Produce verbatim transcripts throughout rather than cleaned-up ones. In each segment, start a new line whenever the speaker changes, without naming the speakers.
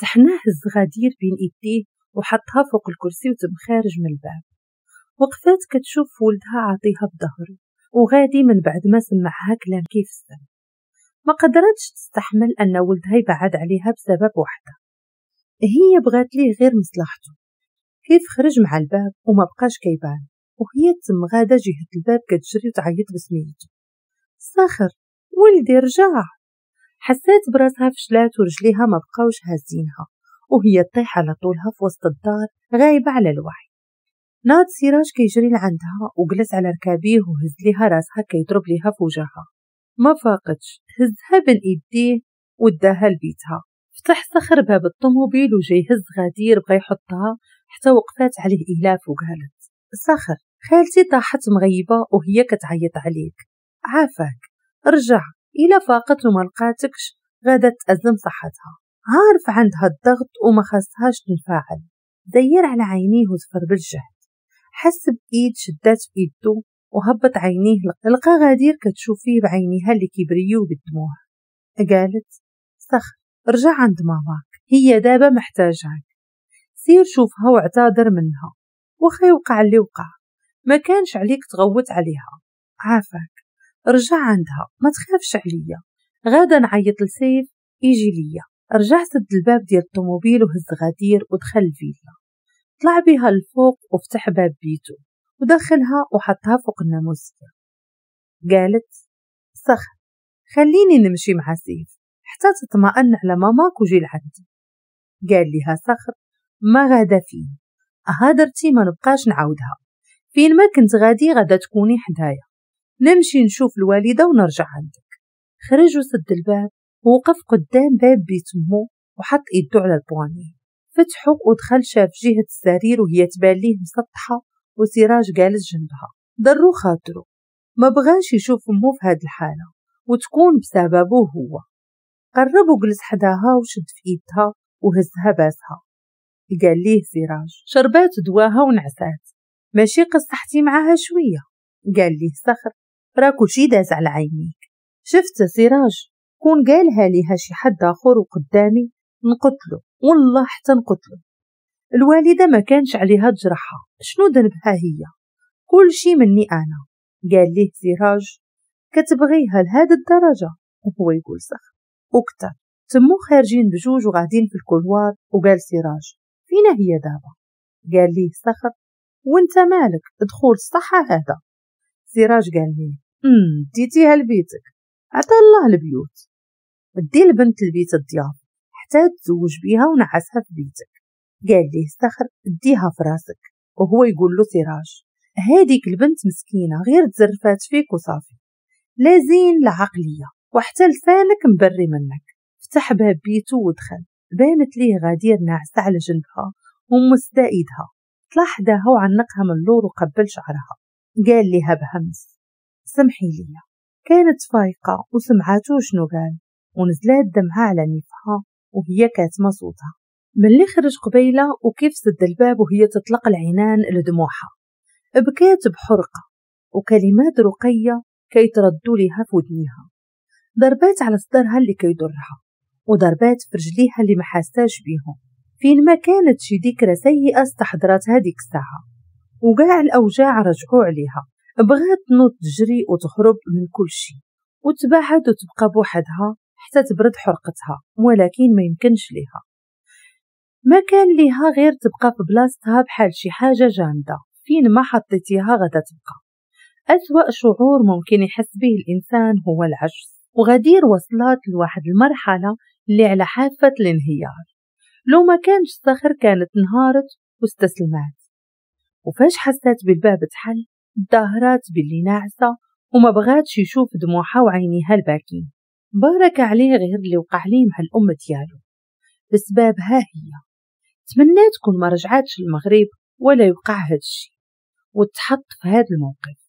تحنى هز غدير بين ايديه وحطها فوق الكرسي وتم خارج من الباب. وقفات كتشوف ولدها عاطيها بظهره وغادي من بعد ما سمعها كلام كيف السم. ما قدرتش تستحمل ان ولدها يبعد عليها بسبب وحده هي بغات ليه غير مصلحته. كيف خرج مع الباب وما بقاش كيبان، وهي تم غاده جهة الباب كتجري وتعيط بسميته، صخر ولدي رجع. حسات براسها فشلات ورجليها ما بقاوش هازينها، وهي طيح على طولها في وسط الدار غايبة على الوعي. ناض سراج كيجري لعندها وجلس على ركابيه وهز ليها راسها كيضرب ليها في وجهها. ما فاقتش، هزها بين ايديه وداها لبيتها. فتح صخر باب الطوموبيل وجاي يهز غدير بغى يحطها حتى وقفات عليه إلاف وقالت، صخر خالتي طاحت مغيبة وهي كتعيط عليك، عافاك رجع، إلا فاقت وما لقاتكش غادا تأزم صحتها، عارف عندها الضغط وما خاصهاش تنفعل. دير على عينيه وزفر بالجهد، حس بإيد شدات في إيدو وهبط عينيه، لقى غدير كتشوف فيه بعينيها اللي كيبريو بالدموع. قالت، صخر رجع عند ماماك، هي دابا محتاجاك، سير شوفها واعتذر منها، وخا يوقع اللي وقع ما كانش عليك تغوت عليها، عافاك رجع عندها ما تخافش عليا، غادا نعيط لسيف يجي ليا. رجع سد الباب ديال الطوموبيل وهز غدير ودخل الفيلا، طلع بها الفوق وفتح باب بيته ودخلها وحطها فوق الناموسية. قالت، صخر خليني نمشي مع سيف حتى تطمئن على ماماك وجي لعندي. قال لها صخر، ما غادا فين، هدرتي ما نبقاش نعاودها، فين ما كنت غادي غادا تكوني حدايا، نمشي نشوف الوالدة ونرجع عندك. خرج وسد الباب ووقف قدام باب بيت امه وحط ايدو على ال poignée، فتحو ودخل، شاف جهة السرير وهي تبان ليه مسطحة وسراج جالس جنبها. ضرو خاطرو، ما بغاش يشوف امه في هاد الحالة وتكون بسببه هو. قرب وجلس حداها وشد في ايدها وهزها باسها. قال ليه سراج، شربات دواها ونعسات، ماشي قصحتي معاها شوية؟ قال ليه صخر، راه كلشي داز على عينيك، شفت سراج كون قالها ليها شي حد اخر وقدامي نقتلو، والله حتى نقتلو. الوالدة ما كانش عليها تجرحها، شنو ذنبها هي؟ كل شي مني انا. قال ليه سراج، كتبغيها لهاد الدرجة؟ وهو يقول صخر وكتر. تمو خارجين بجوج وغادين في ال couloir، وقال سراج، فينا هي دابا؟ قال ليه صخر، وانت مالك، دخول الصحة هذا. سراج قال ليه، امم ديتيها لبيتك، عطا الله البيوت، دي البنت لبيت الضياف حتى تزوج بيها ونعسها في بيتك. قال ليه صخر، ديها في راسك. وهو يقول له سراج، هاديك البنت مسكينة غير تزرفات فيك وصافي، لا زين لا عقلية وحتى لسانك مبري منك. فتح باب بيته ودخل، بانت ليه غدير ناعسة على جنبها ومسدة ايدها. طلع حداها وعنقها من اللور وقبل شعرها. قال لها بهمس، سمحي لي. كانت فايقة وسمعاتو شنو قال، ونزلات دمعة على نيفها وهي كاتمة صوتها. ملي خرج قبيلة وكيف سد الباب وهي تطلق العنان لدموعها، بكات بحرقة وكلمات رقية كيتردوا ليها في ودنيها. ضربات على صدرها اللي كيضرها وضربات في رجليها اللي ما حاساش بيهم. فين ما كانت شي ذكرى سيئة استحضرتها ديك الساعة، وكاع الأوجاع رجعوا عليها. بغات تنوض تجري وتهرب من كل شيء وتبعد وتبقى بوحدها حتى تبرد حرقتها، ولكن ما يمكنش ليها. ما كان ليها غير تبقى في بلاصتها بحال شي حاجة جامدة، فين ما حطيتيها غدا تبقى. أسوأ شعور ممكن يحس به الإنسان هو العجز، وغدير وصلت لواحد المرحلة اللي على حافة الانهيار. لو ما كانش صخر كانت انهارت واستسلمات. وفاش حسات بالباب تحل ظهرات باللي ناعسة وما بغاتش يشوف دموعها وعينيها الباكين. بارك عليه غير اللي وقع ليه مع الأم ديالو بسببها هي. تمنات كون ما رجعاتش المغرب ولا يوقع هاد الشي وتحط في هاد الموقف.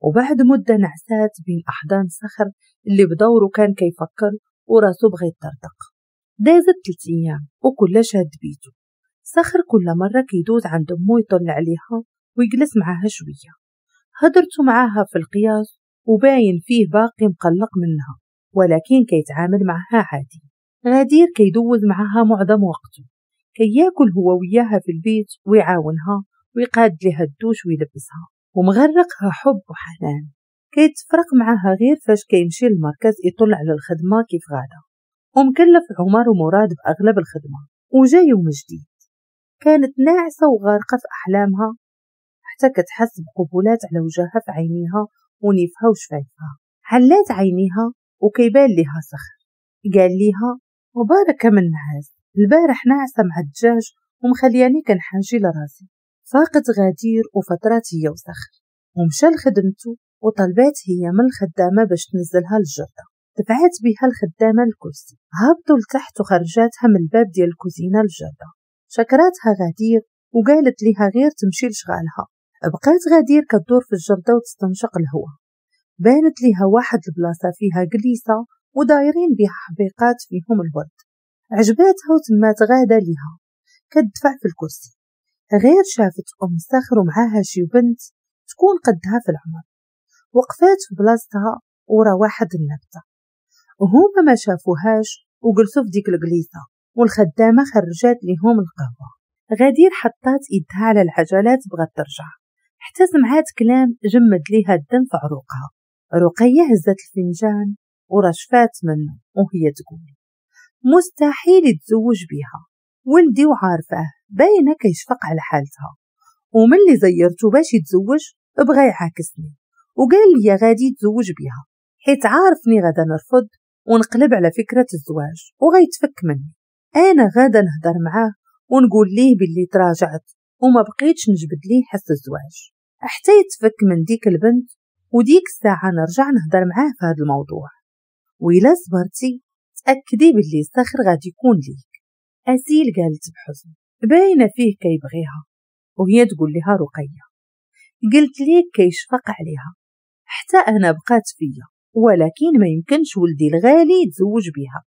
وبعد مدة نعسات بين أحضان صخر اللي بدوره كان كيفكر وراسو بغى يطرطق. دازت ثلاث أيام وكل شاد بيتو. صخر كل مرة كيدوز عند أمو يطل عليها ويجلس معاها شوية. هدرتو معاها في القياس وباين فيه باقي مقلق منها، ولكن كيتعامل معها عادي. غدير كيدوز معها معظم وقته، كياكل هو وياها في البيت ويعاونها ويقاد لها الدوش ويلبسها، ومغرقها حب وحنان. كيتفرق معها غير فاش كيمشي للمركز يطلع على الخدمة كيف غادا، ومكلف عمر ومراد بأغلب الخدمة. وجا يوم جديد، كانت ناعسة وغارقة في أحلامها حتى كتحس بقبولات على وجهها في عينيها ونيفها وشفايفها. حلات عينيها وكيبان لها صخر. قال ليها وبارك من نعاس، البارح ناعسة مع الدجاج ومخلياني كنحاجي لراسي. فاقت غدير وفترات هي وصخر، ومشى لخدمته وطلبات هي من الخدامة باش تنزلها للجردة. دفعات بها الخدامة الكرسي، هبطوا لتحت وخرجاتها من الباب ديال الكوزينة للجردة. شكراتها غدير وقالت لها غير تمشي لشغالها. بقات غدير كدور في الجردة وتستنشق الهواء. بانت لها واحد البلاصة فيها جليسة ودايرين بها حبيقات فيهم الورد، عجباتها وتمات غادة ليها كتدفع في الكرسي. غير شافت أم صخر ومعاها شي بنت تكون قدها في العمر، وقفات في بلاصتها ورا واحد النبتة، وهما ما شافوهاش وجلسوا في ديك الجليسة، والخدامة خرجات ليهم القهوة. غدير حطات ايدها على العجلات بغات ترجع، حتى سمعات كلام جمد ليها الدم في عروقها. رقية هزت الفنجان ورشفات منه وهي تقول مستحيل يتزوج بيها، ولدي وعارفاه باينة كيشفق على حالتها، ومن اللي زيرته باش يتزوج بغى يعاكسني وقال لي غادي يتزوج بيها حيت عارفني غادا نرفض ونقلب على فكرة الزواج وغيتفك مني. انا غادا نهضر معاه ونقول ليه باللي تراجعت وما بقيتش نجبد ليه حس الزواج حتى يتفك من ديك البنت، وديك الساعة نرجع نهضر معاه في هذا الموضوع، وإلا صبرتي تأكدي باللي صخر غادي يكون ليك. أسيل قالت بحزن باينة فيه كيبغيها، وهي تقول لها رقية قلت ليك كيشفق عليها حتى أنا بقات فيا، ولكن ما يمكنش ولدي الغالي يتزوج بها،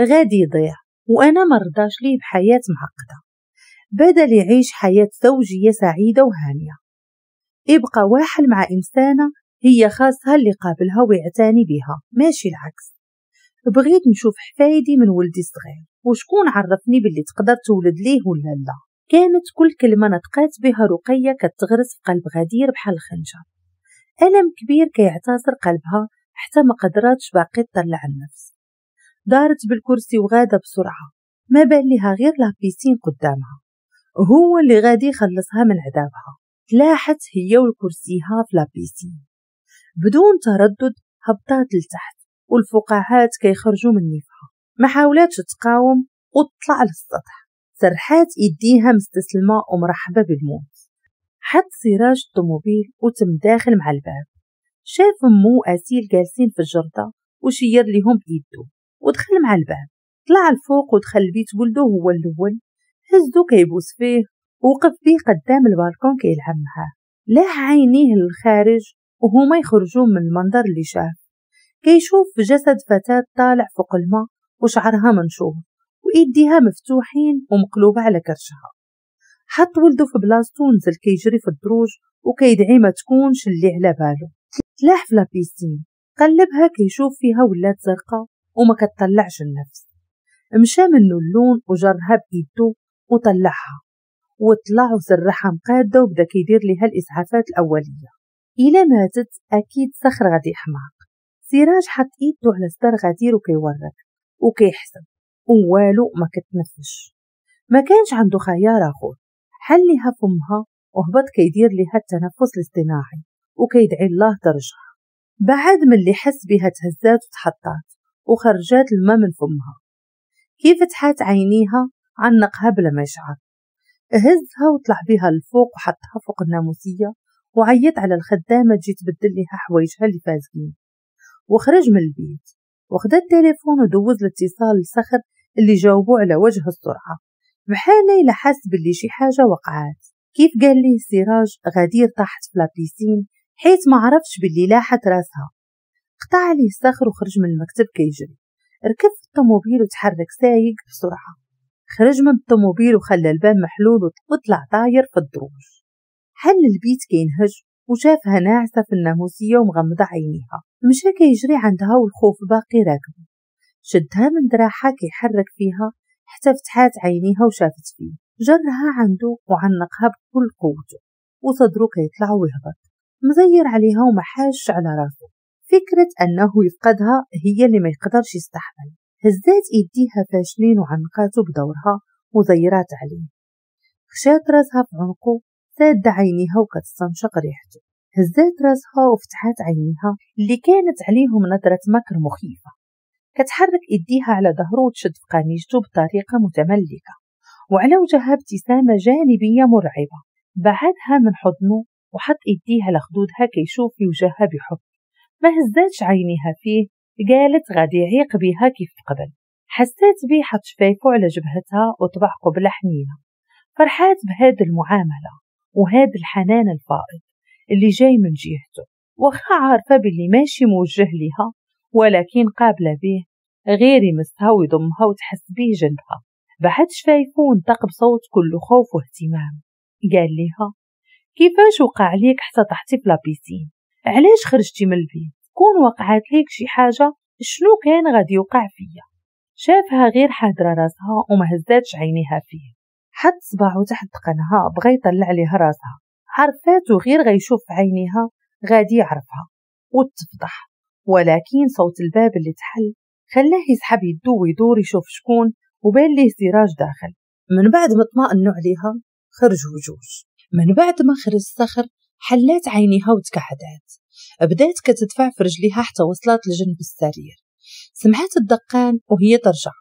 غادي يضيع وأنا ما رضاش ليه بحياة معقدة، بدل يعيش حياة زوجية سعيدة وهانية يبقى واحد مع إنسانة هي خاصها اللي قابلها ويعتني بها ماشي العكس. بغيت نشوف حفايدي من ولدي الصغير وشكون عرفني باللي تقدر تولد ليه ولا لا. كانت كل كلمة نطقات بها رقية كتغرس في قلب غدير بحال الخنجر، ألم كبير كيعتصر قلبها حتى ما قدراتش باقي تطلع النفس. دارت بالكرسي وغادة بسرعة، ما بان لها غير la piscine قدامها، هو اللي غادي يخلصها من عذابها. تلاحت هي والكرسيها في la piscine بدون تردد، هبطات لتحت والفقاعات كيخرجوا من نيفها، ما حاولاتش تقاوم وتطلع للسطح. سرحات ايديها مستسلمة ومرحبة بالموت. حط سراج الطوموبيل وتم داخل مع الباب، شاف امو واسيل جالسين في الجردة وشير ليهم بايدو ودخل مع الباب. طلع الفوق ودخل البيت ولده هو الاول، هزو كيبوس فيه ووقف بيه قدام البالكون كيلعب معاه. لاح عينيه للخارج وهما يخرجوا من المنظر اللي شاف، كيشوف جسد فتاة طالع فوق الماء وشعرها منشور وإيديها مفتوحين ومقلوبة على كرشها. حط ولده في بلاصتو ونزل كيجري في الدروج وكيدعي ما تكونش اللي على بالو. تلاح في la piscine، قلبها كيشوف فيها ولات زرقاء وما كتطلعش النفس. مشى منه اللون وجرها بإيدو وطلعها وطلع وسرحها مقادة وبدا كيدير لها الإسعافات الأولية. إلا ماتت أكيد صخر غادي يحماق. سراج حط إيدو على صدر غدير وكيورك وكيحسب ووالو ما كتنفش، ما كانش عنده خيار آخر. حل لها فمها وهبط كيدير لها التنفس الاصطناعي وكيدعي الله ترجع. بعد من اللي حس بها تهزات وتحطات وخرجات الماء من فمها. كيف فتحات عينيها عنقها بلا ما يشعر، هزها وطلع بها للفوق وحطها فوق الناموسية وعيط على الخدامة تجي تبدل لها حوايجها اللي فازقين. وخرج من البيت وخدا التليفون ودوز الاتصال لصخر اللي جاوبوا على وجه السرعة بحال إلا حس باللي شي حاجة وقعات. كيف قال ليه سراج غدير طاحت في la piscine حيت ما عرفش باللي لاحت راسها. قطع عليه صخر وخرج من المكتب كيجري، ركب في الطوموبيل وتحرك سايق بسرعة. خرج من الطوموبيل وخلى الباب محلول وطلع طاير في الدروج. حل البيت كينهج وشافها ناعسة في الناموسية ومغمضة عينيها. مشى كيجري عندها والخوف باقي راكبه. شدها من دراعها كيحرك فيها حتى فتحات عينيها وشافت فيه. جرها عنده وعنقها بكل قوته وصدره كيطلع ويهبط، مزير عليها ومحاش على راسه. فكرة أنه يفقدها هي اللي ما يقدرش يستحمل. هزات ايديها فاشلين وعنقاته بدورها وزيرات عليه. خشات راسها في عنقه سادة عينيها وكتستنشق ريحته. هزات راسها وفتحات عينيها اللي كانت عليهم نظرة مكر مخيفة. كتحرك ايديها على ظهره وتشد في قميجته بطريقة متملكة، وعلى وجهها ابتسامة جانبية مرعبة. بعدها من حضنه وحط ايديها على خدودها كيشوف في وجهها بحب. ما هزاتش عينيها فيه، قالت غادي يعيق بها كيف قبل. حسات بيه حط شفايفه على جبهتها وطبع قبلة حنينة. فرحات بهذه المعاملة وهذا الحنان الفائض اللي جاي من جهته، واخا عارفة باللي ماشي موجه لها، ولكن قابلة به غير يمسها ويضمها وتحس به جنبها. بعد شفايفه ونطق بصوت كله خوف واهتمام، قال لها كيفاش وقع ليك حتى طحتي في la piscine؟ علاش خرجتي من البيت؟ كون وقعت ليك شي حاجة شنو كان غادي يوقع فيا؟ شافها غير حاضرة راسها وما هزاتش عينيها فيه. حط صباعه تحت قنها بغى يطلع ليها راسها، عرفاته غير غيشوف عينيها غادي يعرفها وتفضح. ولكن صوت الباب اللي تحل خلاه يسحب يدو ويدور يشوف شكون، وبان ليه سراج داخل. من بعد ما اطمأنوا عليها خرجوا جوج. من بعد ما خرج الصخر حلات عينيها وتكعدات، بدات كتدفع في رجليها حتى وصلت لجنب السرير. سمعت الدقان وهي ترجع،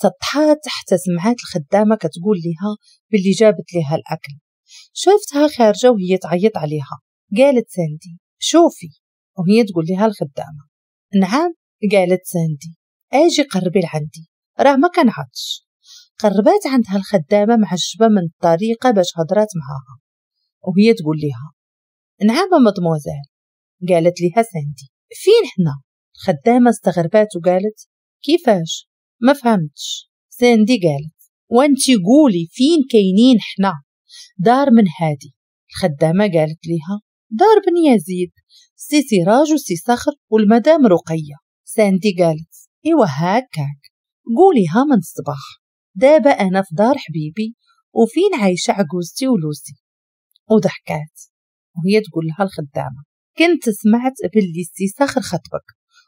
تطحات حتى سمعت الخدامة كتقول لها باللي جابت لها الأكل. شافتها خارجة وهي تعيط عليها. قالت ساندي شوفي، وهي تقول لها الخدامة نعم. قالت ساندي اجي قربي لعندي راه ما كنعطش. قربات عندها الخدامة معجبة من الطريقة باش هضرات معاها، وهي تقول لها نعم مدموزيل. قالت لها ساندي فين حنا؟ الخدامة استغربات وقالت كيفاش؟ ما فهمتش. ساندي قالت وانتي قولي فين كاينين حنا؟ دار من هادي. الخدامة قالت لها دار بن يزيد، سي سراج وسي صخر والمدام رقية. ساندي قالت ايوا هاكاك قوليها من الصباح، دابا انا في دار حبيبي وفين عايشة عجوزتي ولوسي. وضحكات وهي تقول لها الخدامة كنت سمعت باللي سي صخر خطبك،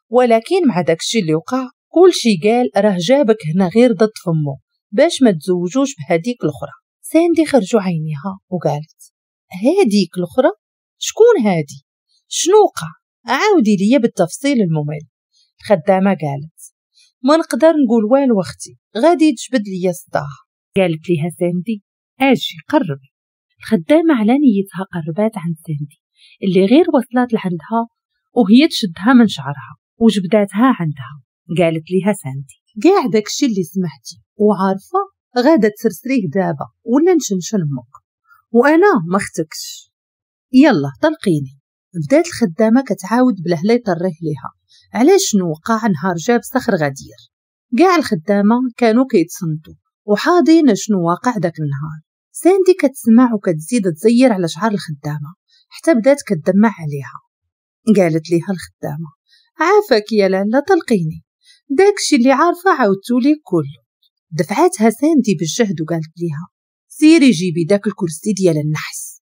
ولكن مع داكشي اللي وقع كلشي قال راه جابك هنا غير ضد فمو باش ما تزوجوش بهديك الاخرى. ساندي خرجوا عينيها وقالت هاديك الاخرى؟ شكون هادي؟ شنو وقع؟ عاودي ليا بالتفصيل الممل. الخدامة قالت ما نقدر نقول والو اختي، غادي تجبد ليا الصداع. قالت ليها ساندي اجي قربي. الخدامة على نيتها قربات عند ساندي اللي غير وصلت لعندها وهي تشدها من شعرها وجبداتها عندها. قالت ليها ساندي كاع داكشي اللي سمعتي وعارفه غادا تسرسريه دابا ولا نشنشن امك وانا ما اختكش، يلا طلقيني. بدات الخدامة كتعاود بلهلا يطريه ليها علاش شنو وقع نهار جاب صخر غدير. كاع الخدامة كانوا كيتصنتوا وحاضين شنو واقع داك النهار. ساندي كتسمع وكتزيد تزير على شعر الخدامة حتى بدات كتدمع عليها. قالت ليها الخدامة عافاك يا لاله طلقيني، داكشي اللي عارفه عاودتو لي كله. دفعاتها ساندي بالجهد وقالت ليها سيري جيبي داك الكرسي ديال النحس.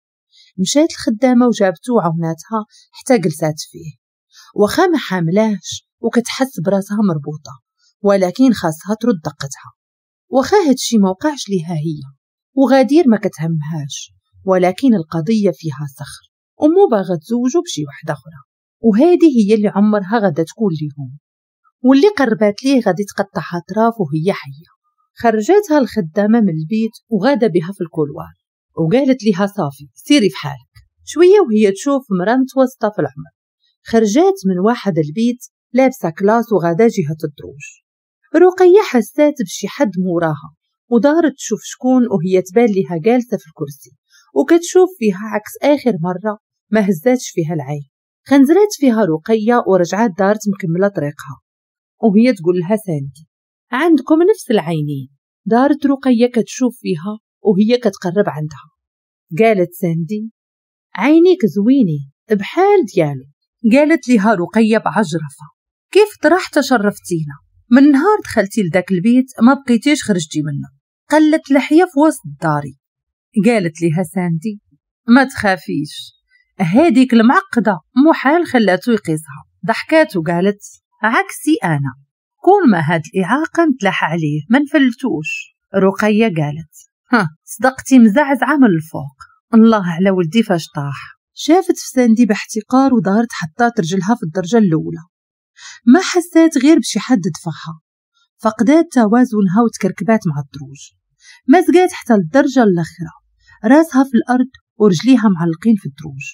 مشات الخدامة وجابته وعاوناتها حتى جلسات فيه، واخا ما حاملاش وكتحس براسها مربوطة، ولكن خاصها ترد دقتها. واخا هادشي ما وقعش ليها هي وغادير ما كتهمهاش، ولكن القضية فيها صخر ومو باغا تزوجو بشي وحده اخرى، وهذه هي اللي عمرها غادا تكون ليهم، واللي قربات ليه غادي تقطعها اطراف وهي حيه. خرجتها الخدامة من البيت وغادا بها في ال couloir وقالت لها صافي سيري في حالك. شوية وهي تشوف مرا متوسطه في العمر خرجات من واحد البيت لابسه classe وغادا جهة الدروج. رقيه حسات بشي حد موراها ودارت تشوف شكون، وهي تبان لها جالسة في الكرسي وكتشوف فيها عكس اخر مرة ما هزاتش فيها العين. خنزرات فيها رقيه ورجعات دارت مكملة طريقها وهي تقول لها ساندي عندكم نفس العينين. دارت رقيه كتشوف فيها وهي كتقرب عندها. قالت ساندي عينيك زوينين بحال ديالو. قالت لها رقيه بعجرفه كيف طرحت شرفتينا؟ من نهار دخلتي لذاك البيت ما بقيتيش خرجتي منه، قلت لحية في وسط داري. قالت ليها ساندي ما تخافيش، هاديك المعقدة محال خلاتو يقيسها. ضحكات وقالت عكسي أنا، كون ما هاد الإعاقة نتلاح عليه ما نفلتوش. رقية قالت ها صدقتي مزعزعة من الفوق، الله على ولدي فاش طاح. شافت في ساندي باحتقار ودارت حطات رجلها في الدرجة الأولى، ما حسات غير بشي حد دفعها، فقدات توازنها وتكركبات مع الدروج، مزقات حتى للدرجة الأخرى، راسها في الأرض ورجليها معلقين في الدروج،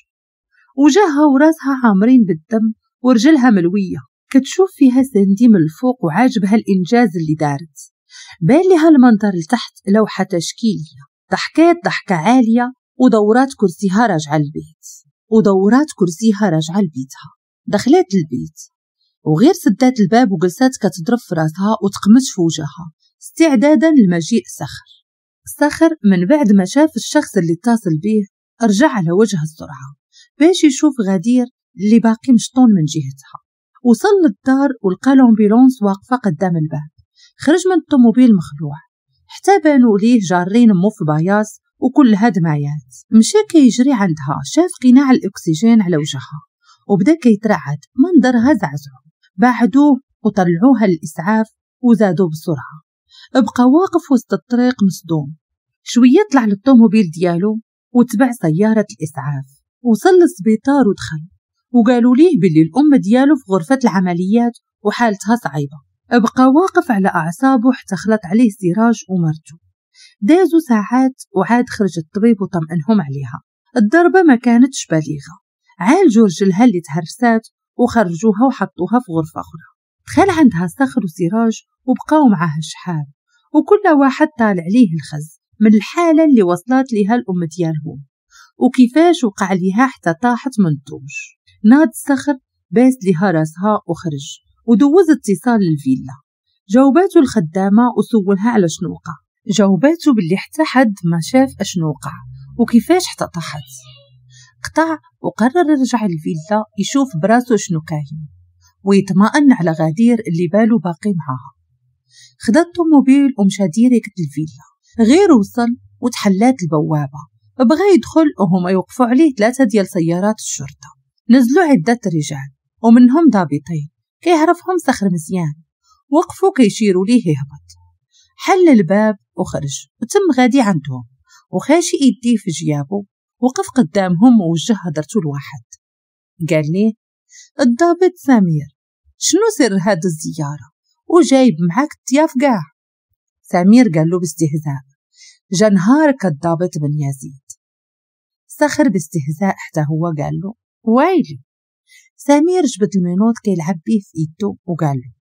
وجهها وراسها عامرين بالدم ورجلها ملوية. كتشوف فيها ساندي من الفوق وعاجبها الإنجاز اللي دارت، بان لها المنظر لتحت لوحة تشكيلية. ضحكات ضحكة عالية ودورات كرسيها راجعة البيت، ودورات كرسيها راجعة لبيتها. دخلت البيت وغير سدات الباب وجلسات كتضرب في راسها وتقمش في وجهها استعدادا لمجيء صخر. صخر من بعد ما شاف الشخص اللي اتصل به رجع على وجه السرعة باش يشوف غدير اللي باقي مشطون من جهتها. وصل للدار ولقى l'ambulance واقفة قدام الباب. خرج من الطوموبيل مخلوع حتى بانوا ليه جارين مو في paillasse وكلها دمايات. مشى كيجري عندها، شاف قناع الاكسجين على وجهها وبدا كيترعد، منظرها زعزعو. بعدوه وطلعوها للاسعاف وزادوا بسرعة. بقى واقف وسط الطريق مصدوم. شوية طلع للطوموبيل ديالو وتبع سيارة الاسعاف. وصل للسبيطار ودخل وقالوا ليه باللي الام ديالو في غرفة العمليات وحالتها صعيبة. بقى واقف على اعصابه حتى خلط عليه سراج ومرته. دازوا ساعات وعاد خرج الطبيب وطمئنهم عليها. الضربة ما كانتش بالغة، عالجوا رجلها اللي تهرسات وخرجوها وحطوها في غرفة اخرى. دخل عندها صخر وسراج وبقاو معاها شحال، وكل واحد طالع ليه الخز من الحالة اللي وصلت ليها الام ديالهم وكيفاش وقع ليها حتى طاحت من الدروج. ناض صخر باس ليها راسها وخرج ودوز اتصال للفيلا. جاوباتو الخدامة وسولها على شنو وقع. جاوباتو باللي حتى حد ما شاف اشنو وقع وكيفاش حتى طاحت. قطع وقرر يرجع للفيلا يشوف براسو شنو كاين ويطمئن على غدير اللي بالو باقي معاها. خدا الطوموبيل ومشى direct للفيلا. غير وصل وتحلات البوابة، بغى يدخل وهما يوقفوا عليه ثلاثة ديال سيارات الشرطة. نزلوا عدة رجال ومنهم ضابطين كيعرفهم صخر مزيان، وقفوا كيشيروا ليه يهبط. حل الباب وخرج وتم غادي عندهم وخاشي ايديه في جيابه. وقف قدامهم ووجه هدرته لواحد، قال ليه الضابط سمير شنو سر هاد الزيارة وجايب معاك الضياف كاع؟ سمير قال له باستهزاء جا نهارك الضابط بن يزيد. صخر باستهزاء حتى هو قال له ويلي. سمير جبد ال menottes كيلعب بيه في ايدو وقال له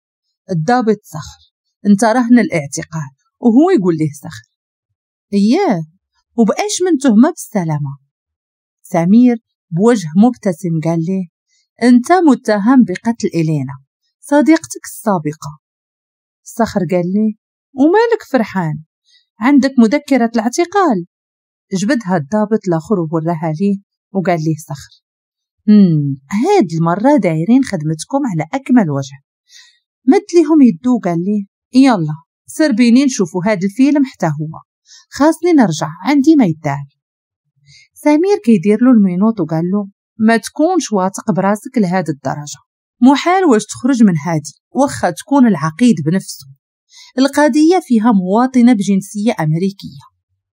الضابط صخر انت رهن الاعتقال. وهو يقول ليه صخر اياه وبقاش من تهمة بالسلامة. سمير بوجه مبتسم قال ليه انت متهم بقتل إلينا صديقتك السابقة. صخر قال ليه ومالك فرحان عندك مذكرة الاعتقال؟ جبدها الضابط الاخر ووراها ليه وقال ليه صخر امم هاد المرة دايرين خدمتكم على أكمل وجه. مد ليهم يدو وقال ليه يلا سربيني نشوفوا هاد الفيلم حتى هو، خاصني نرجع عندي ما يدار. سمير كيدير له ال menottes وقال له ما تكونش واثق براسك لهاد الدرجة، محال واش تخرج من هادي واخا تكون العقيد بنفسه. القضية فيها مواطنة بجنسية أمريكية.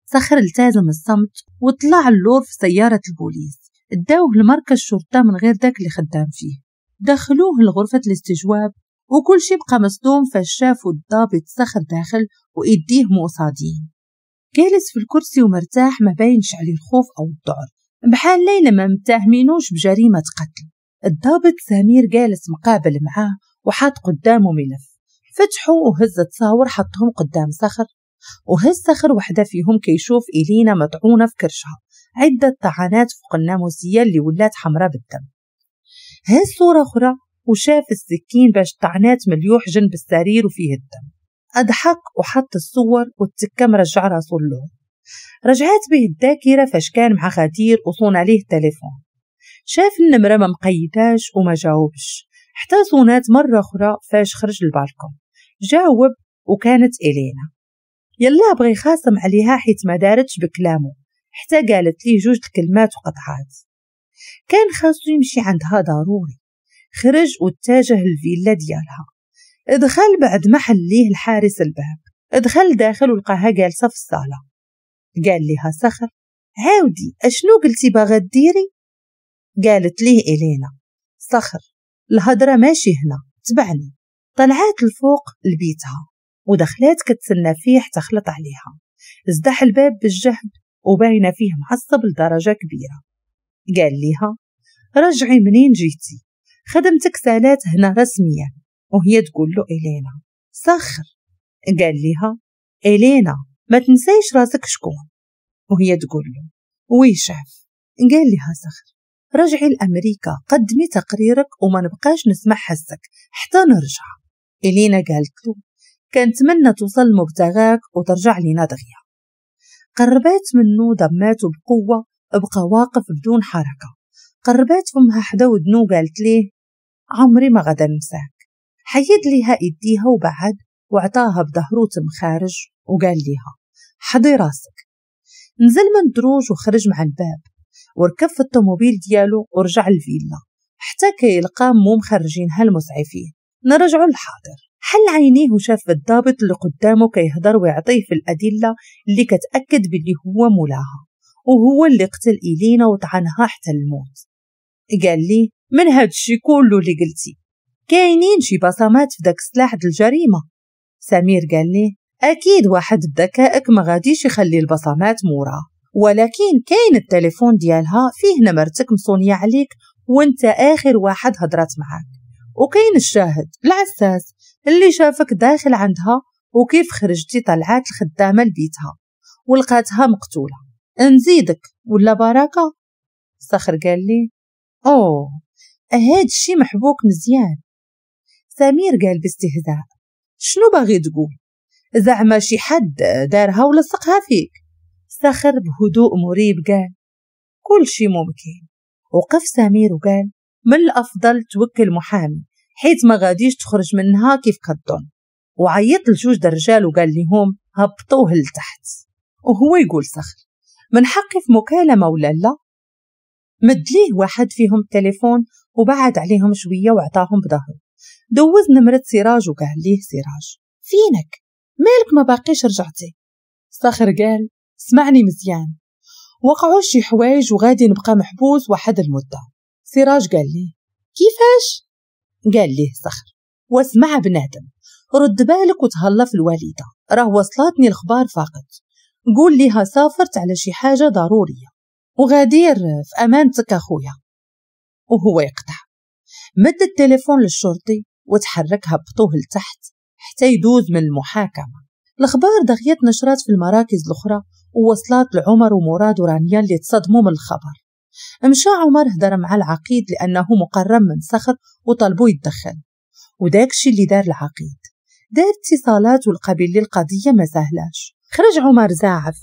صخر التزم الصمت وطلع اللور في سيارة البوليس. اداوة لمركز الشرطة من غير داك اللي خدام فيه. دخلوه لغرفة الاستجواب وكل شي بقى مصدوم فاش شافوا الضابط صخر داخل وإيديه موصادين. جالس في الكرسي ومرتاح ما باينش عليه الخوف أو الذعر، بحال ليلى ما متهمينوش بجريمة قتل. الضابط سمير جالس مقابل معاه وحاط قدامه ملف، فتحه وهز تصاور حطهم قدام صخر، وهز صخر وحدة فيهم كيشوف إلينا مطعونة في كرشها عدة طعنات فوق الناموسية اللي ولات حمراء بالدم. هز صورة أخرى وشاف السكين باش طعنات مليوح جنب السرير وفيه الدم. أضحك وحط الصور والتكة مرجع راسو اللون. رجعت به الذاكرة فاش كان مع غدير وصون عليه التليفون. شاف النمرة ما مقيداش وما جاوبش حتى صونات مرة أخرى فاش خرج البالكون. جاوب وكانت إلينا. يلا بغي خاصم عليها حيت ما دارتش بكلامه، حتى قالت ليه جوج الكلمات وقطعات. كان خاصو يمشي عندها ضروري. خرج واتجه الفيلا ديالها. دخل بعد ما حليه الحارس الباب. دخل داخل ولقاها جالسة في الصالة. قال لها صخر عاودي اشنو قلتي باغا ديري؟ قالت ليه إلينا صخر الهضرة ماشي هنا، تبعني. طلعات الفوق لبيتها ودخلات كتسنى فيه حتى خلط عليها. ازدح الباب بالجهد وباينه فيه معصب لدرجة كبيرة. قال ليها رجعي منين جيتي، خدمتك سالات هنا رسميا. وهي تقول له إلينا صخر. قال ليها إلينا ما تنسيش راسك شكون. وهي تقول له oui chef. قال لها صخر رجعي لأمريكا، قدمي تقريرك وما نبقاش نسمع حسك حتى نرجع. إلينا قالت له كنتمنى توصل لمبتغاك وترجع لينا دغيا. قربات منه ضماته بقوة، بقى واقف بدون حركة. قربات فمها حدا ودنو قالت ليه عمري ما غدا ننساك. حيد ليها ايديها وبعد وعطاها بظهرو تم خارج وقال ليها حضي راسك. نزل من الدروج وخرج مع الباب وركب في الطوموبيل ديالو ورجع الفيلا حتى كيلقى مو مخرجينها المسعفين. نرجعوا للحاضر. حل عينيه وشاف الضابط اللي قدامه كيهضر ويعطيه في الأدلة اللي كتأكد باللي هو مولاها وهو اللي قتل إلينا وطعنها حتى الموت. قال لي من هاد الشي كله اللي قلتي كاينين شي بصمات في داك السلاح د الجريمة؟ سمير قال لي أكيد واحد بذكائك ما غاديش يخلي البصمات موراه، ولكن كاين التليفون ديالها فيه نمرتك مصونية عليك وانت آخر واحد هضرات معاك، وكاين الشاهد العساس اللي شافك داخل عندها وكيف خرجتي طلعات الخدامة لبيتها ولقاتها مقتولة. نزيدك ولا بركة؟ صخر قال لي أوه هاد الشي محبوك مزيان. سمير قال باستهزاء شنو باغي تقول؟ زعما شي حد دارها ولصقها فيك؟ صخر بهدوء مريب قال كل شي ممكن. وقف سمير وقال من الأفضل توكل محامي حيث ما غاديش تخرج منها كيف كظن. وعيط لجوج الرجال وقال لهم هبطوه لتحت. وهو يقول صخر من حقي في مكالمة ولا لا؟ مد ليه واحد فيهم التليفون وبعد عليهم شوية وعطاهم بظهره. دوز نمرة سراج وقال ليه سراج فينك؟ مالك ما باقيش رجعتي؟ صخر قال اسمعني مزيان، وقعوا شي حوايج وغادي نبقى محبوس واحد المدة. سراج قال ليه كيفاش؟ قال ليه صخر واسمع بنادم، رد بالك وتهلا في الوالدة، راه وصلتني الخبار فقط، قول ليها سافرت على شي حاجة ضرورية وغادير في أمانتك أخويا. وهو يقطع. مد التليفون للشرطي وتحرك هبطوه لتحت حتى يدوز من المحاكمة. الأخبار دغيا نشرات في المراكز الأخرى ووصلات لعمر ومراد ورانيا اللي تصدموا من الخبر. مشى عمر هدر مع العقيد لأنه مقرب من صخر وطلبوا يتدخل، وداك الشي اللي دار العقيد، دار اتصالات ولقى باللي القضية ما سهلاش. خرج عمر زاعف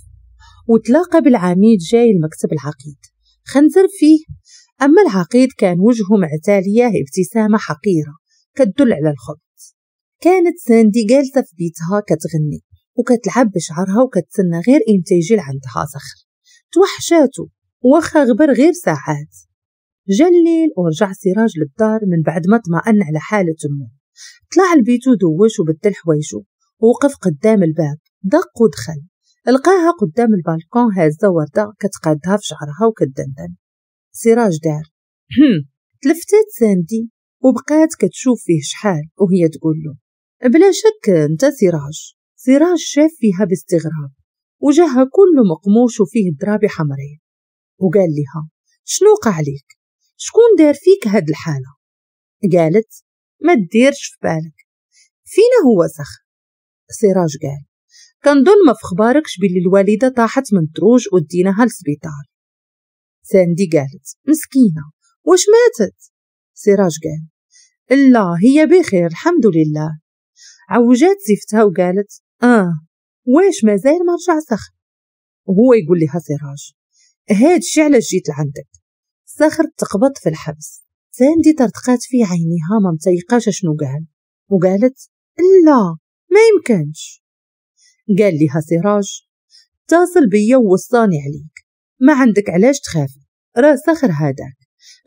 وتلاقى بالعميد جاي المكتب العقيد، خنزر فيه. أما العقيد كان وجهه معتالية ابتسامة حقيرة كتدل على الخبث. كانت ساندي جالسة في بيتها كتغني وكتلعب بشعرها وكتسنى غير امتى يجي لعندها صخر. توحشاتو واخا غبر غير ساعات. جا الليل ورجع سراج للدار من بعد ما اطمأن على حالة أمه. طلع لبيتو دوش وبدل حوايجو ووقف قدام الباب، دق ودخل. لقاها قدام البالكون هازة وردة كتقادها في شعرها وكتدندن. سراج دار تلفتات ساندي وبقات كتشوف فيه شحال وهي تقول له بلا شك انت سراج. سراج شاف فيها باستغراب، وجهها كله مقموش وفيه ضرابي حمرين، وقال لها شنو وقع عليك؟ شكون دار فيك هاد الحالة؟ قالت ما ديرش في بالك، فينا هو صخر؟ سراج قال كنظن ما في خباركش باللي الوالدة طاحت من الدروج وديناها للسبيطار. ساندي قالت مسكينة واش ماتت؟ سراج قال لا هي بخير الحمد لله. عوجات زفتها وقالت اه واش مازال ما رجع صخر؟ وهو يقول لها سراج هاد الشي علاش جيت لعندك، صخر تقبض في الحبس. ساندي طرطقات في عينيها ما متيقاش شنو قال وقالت لا ما يمكنش. قال لها سراج اتصل بيا ووصاني عليك، ما عندك علاش تخافي، راه صخر هذاك،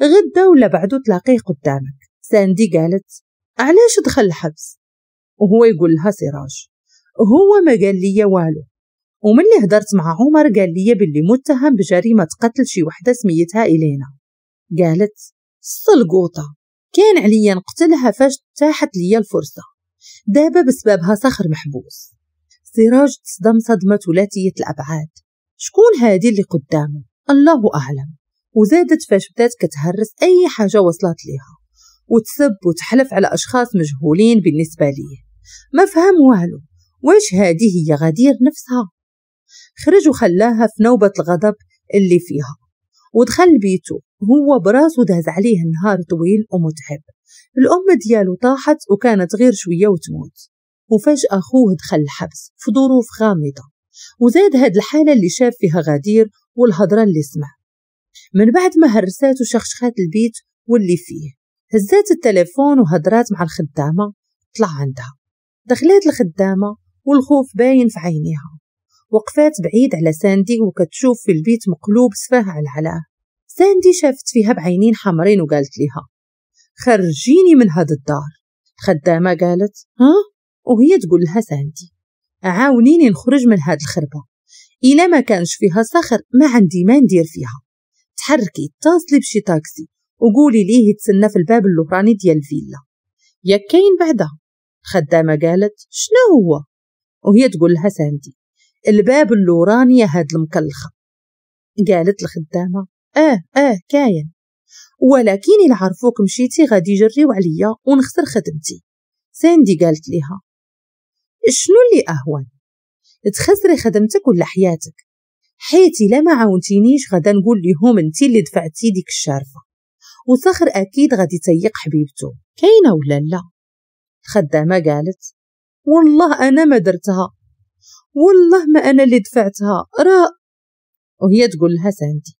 غدا ولا بعدو تلاقيه قدامك. ساندي قالت علاش دخل الحبس؟ وهو يقول لها سراج هو ما قال لي والو، وملي هدرت مع عمر قال لي باللي متهم بجريمة قتل شي وحدة سميتها إلينا. قالت السلقوطة كان عليا نقتلها فاش تاحت لي الفرصة، دابا بسببها صخر محبوس. سراج تصدم صدمة ثلاثية الأبعاد، شكون هادي اللي قدامه؟ الله أعلم. وزادت فاش بدات كتهرس أي حاجة وصلت ليها وتسب وتحلف على أشخاص مجهولين بالنسبة ليه، ما فهم والو، واش هادي هي غدير نفسها؟ خرج وخلاها في نوبة الغضب اللي فيها ودخل بيته هو براسو داز عليه نهار طويل ومتعب. الأم ديالو طاحت وكانت غير شوية وتموت، وفجأة أخوه دخل الحبس في ظروف غامضة، وزاد هاد الحالة اللي شاف فيها غدير والهضرة اللي سمع. من بعد ما هرسات وشخشخات البيت واللي فيه، هزات التليفون وهضرات مع الخدامة طلع عندها. دخلات الخدامة والخوف باين في عينيها، وقفات بعيد على ساندي وكتشوف في البيت مقلوب سفاه على علاه. ساندي شافت فيها بعينين حمرين وقالت لها خرجيني من هاد الدار. الخدامة قالت ها؟ وهي تقول لها ساندي عاونيني نخرج من هاد الخربة، إلا ما كانش فيها صخر ما عندي ما ندير فيها. تحركي اتصلي بشي تاكسي وقولي ليه يتسنى في الباب اللوراني ديال الفيلا، يا كاين بعدا. الخدامة قالت شنو هو؟ وهي تقول لها ساندي الباب اللوراني هاد المكلخة. قالت الخدامة اه اه كاين، ولكن إلا عرفوك مشيتي غادي يجريو عليا ونخسر خدمتي. ساندي قالت لها شنو اللي أهون، تخسري خدمتك ولا حياتك؟ حيت إلا ما عاونتينيش غادا نقول لهم انتي اللي دفعتي ديك الشارفة، وصخر أكيد غادي تيق حبيبته، كاينة ولا لا؟ الخدامة قالت والله أنا ما درتها، والله ما أنا اللي دفعتها راه. وهي تقول لها ساندي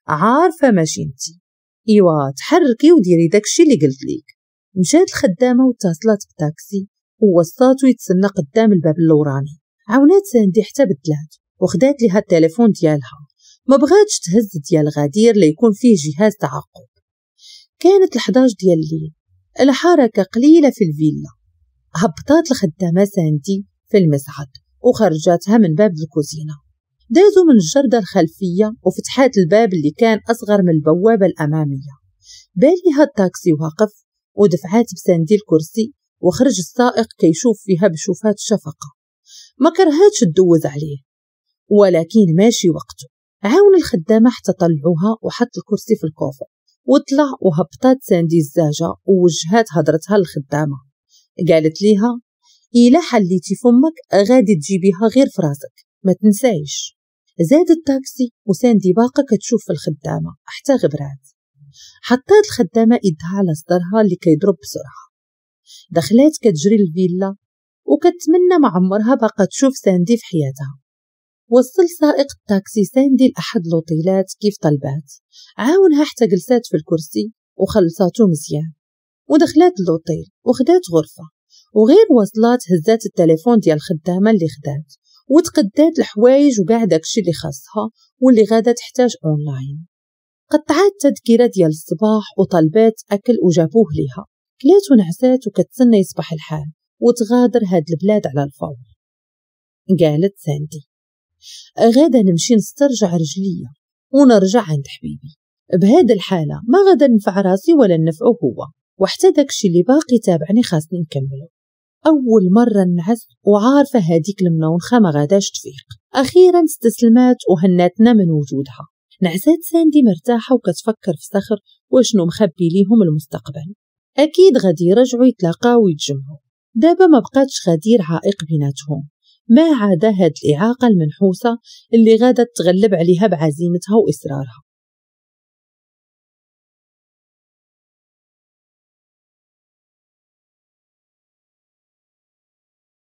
عارفة ماشي انتي، ايوا تحركي وديري داكشي اللي قلت ليك. مشات الخدامة واتصلت بتاكسي ووصاتو يتسنى قدام الباب اللوراني. عاونات ساندي حتى بدلات وخدات ليها التليفون ديالها، ما بغاتش تهز ديال غدير ليكون فيه جهاز تعقب. كانت الحداش ديال الليل، الحركة قليلة في الفيلا. هبطات الخدامة ساندي في المصعد وخرجاتها من باب الكوزينة. دازوا من الجردة الخلفية وفتحات الباب اللي كان أصغر من البوابة الأمامية. باليها التاكسي واقف ودفعات بساندي الكرسي وخرج السائق كيشوف فيها بشوفات شفقة، ما كرهاتش تدوز عليه ولكن ماشي وقته. عاون الخدامة حتى طلعوها وحط الكرسي في ال coffre وطلع، وهبطات ساندي الزاجة ووجهات هضرتها للخدامة. قالت ليها إلا حليتي فمك غادي تجيبيها غير فراسك ما تنسايش. زاد التاكسي وساندي باقة كتشوف في الخدامة حتى غبرات. حطات الخدامة إيدها على صدرها اللي كيضرب بسرعة. دخلات كتجري الفيلا وكتمنى ما عمرها باقة تشوف ساندي في حياتها. وصل سائق التاكسي ساندي لأحد لوطيلات كيف طلبات، عاونها حتى جلسات في الكرسي وخلصاتو مزيان ودخلات اللوطيل وخدات غرفة. وغير وصلات هزات التليفون ديال الخدامة اللي خدات وتقدات الحوايج وكاع داكشي اللي خاصها واللي غادا تحتاج اونلاين. قطعات تذكرة ديال الصباح وطلبات اكل وجابوه ليها. كلات ونعسات وكتسنى يصبح الحال وتغادر هاد البلاد على الفور. قالت ساندي غادا نمشي نسترجع رجليا ونرجع عند حبيبي، بهاد الحالة ما غادا ننفع راسي ولا ننفعه هو، وحتى داكشي اللي باقي تابعني خاصني نكمله. أول مرة نعس وعارفة هاديك المنونخة ما غاداش تفيق. أخيرا استسلمات وهناتنا من وجودها. نعسات ساندي مرتاحة وكتفكر في صخر وشنو مخبي ليهم المستقبل. أكيد غادي يرجعوا يتلاقاو ويتجمعوا. دابا ما بقاتش غدير عائق بيناتهم، ما عدا هاد الإعاقة المنحوسة اللي غادا تغلب عليها بعزيمتها وإصرارها.